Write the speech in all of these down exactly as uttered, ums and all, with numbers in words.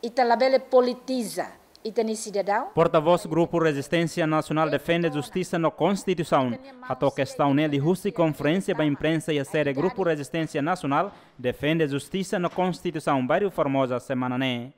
Ita labele politiza ita-nia sidadaun. Portavós Grupu Rezisténsia Nasionál Defende Justisa no Konstituisaun hato'o kestaun ne'e liuhusi konferénsia ba imprensa iha sede Grupu Rezisténsia Nasionál Defende Justisa no Konstituisaun, bairru Formosa, semana ne'e.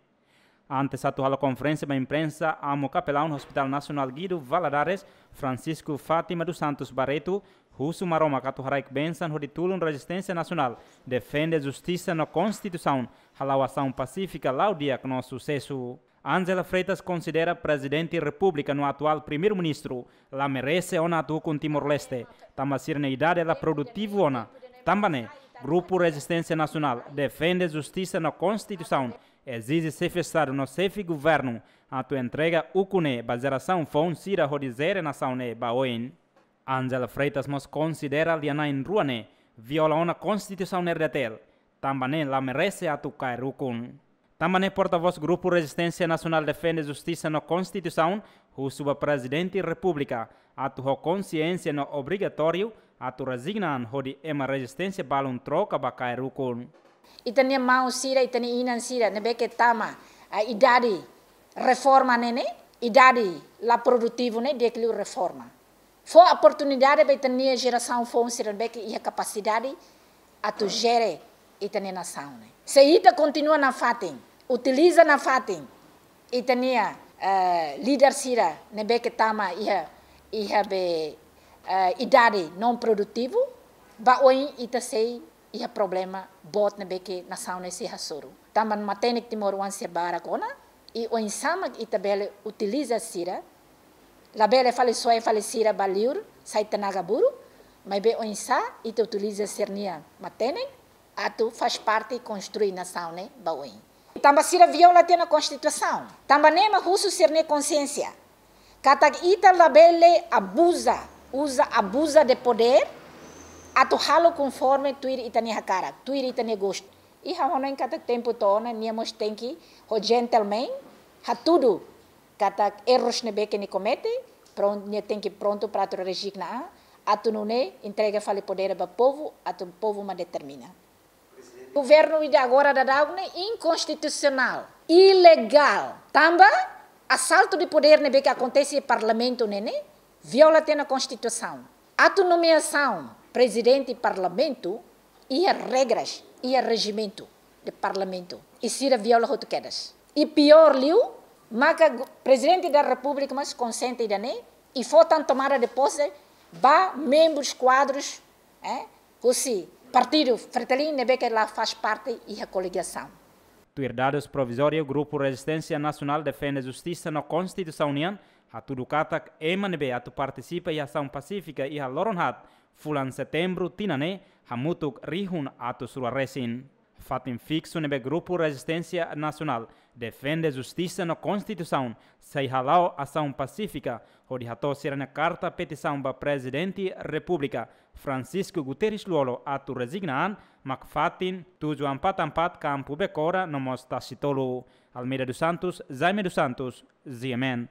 Antes atu halo konferénsia ba imprensa, Amu Kapelaun Hospital Nasionál Guido Valadares, Francisco Fátima dos Santos Barreto, husu Maromak atu haraik bensaun hodi tulun Rezisténsia Nasionál Defende Justisa no Konstituisaun hala'o asaun pasífika la'o di'ak no susesu. Ángela Freitas konsidera Prezidente Repúblika no atuál Primeiru-Ministru la merese ona atu ukun Timor-Leste, tanba sira-nia idade la produtivu ona. Tanba ne'e, Grupu Rezisténsia Nasionál Defende Justisa no Konstituisaun ezije Xefe Estadu no Xefe Governu atu entrega ukun ne'e ba jerasaun foun sira hodi jere nasaun ne'e ba oin. Ángela Freitas mós konsidera lia-na'in rua ne'e viola ona Konstituisaun R D T L, tanba ne'e la merese atu kaer ukun. Tanba ne'e portavós Grupu Rezisténsia Nasionál Defende Justisa no Konstituisaun husu ba Prezidente Repúblika atu ho konsiénsia no obrigatóriu atu rezigna an hodi ema rezisténsia balun troka ba kaer ukun. Ita-nia maun sira, ita-nia inan sira ne'ebé ke tama, ah, idade reforma ne'e ne'e, idade la produtivu ne'e, di'ak liu reforma. Fó oportunidade ba ita-nia jerasaun foun sira ne'ebé ke iha kapasidade atu jere ita-nia nasaun ne'e. Se ita kontinua nafatin, utiliza nafatin ita-nia, eh, líder sira ne'ebé ke tama iha, iha be, eh, idade não produtivu, ba oin ita sei iha problema boot ne'ebé ke nasaun ne'e sei hasoru. Tanba matenek timoroan sira barak ona, i oinsá mak ita bele utiliza sira, labele fali soe fali sira ba liur, sai tenaga burru, maibé oinsá ita utiliza sira-nia matenek atu faz parte konstrui nasaun ne'e ba oin. Tanba sira viola tiha ona Konstituisaun. Tanba ne'e mak husu sira-nia konsiénsia katak ita labele abuza, uza, abuza de poder, atu halo konforme tuir ita-nia hakarak, tuir ita-nia gostu. I ha'u hanoin katak tempu to'o ona, nia mós tenke ho gentleman, hatudu katak erros ne'ebé ke nia komete, pron-, nia tenke prontu para atu rezigna an, atu nune'e entrega fali poder ba povu, atu povu mak determina. Governu ida agora daudaun ne'e inkonstitusionál, ilegál. Tanba asaltu de poder ne'ebé ke akontese iha Parlamentu ne'e ne'e, viola tiha ona Konstituisaun. Atu nomeasaun Prezidente Parlamentu, iha regras, iha rejimentu de Parlamentu. I sira viola hotu kedas. I piór liu, maka gu-, Prezidente da Repúblika mós konsente ida-ne'e, i fó tan tomada de pose ba membrus, kuadrus, eh, husi Partidu Fretilin ne'ebé ke la faz parte iha koligasaun. Tuir dadus provizóriu, Grupu Rezisténsia Nasionál Defende Justisa no Konstituisaun nian hatudu katak ema ne'ebé atu partisipa iha asaun pasífika iha loron haat fulan Setembru tinan ne'e hamutuk rihun atus rua resin. Fatin fiksu ne'ebé Grupu Rezisténsia Nasionál Defende Justisa no Konstituisaun sei hala'o asaun pasífika hodi hato'o sira-nia karta petisaun ba Prezidente Repúblika, Francisco Guterres Lú-Olo, atu rezigna an, mak fatin tujuh empat empat, Kampu Bekora no mós Tasitolu. Almeida dos Santos, Jaime dos Santos, G M N.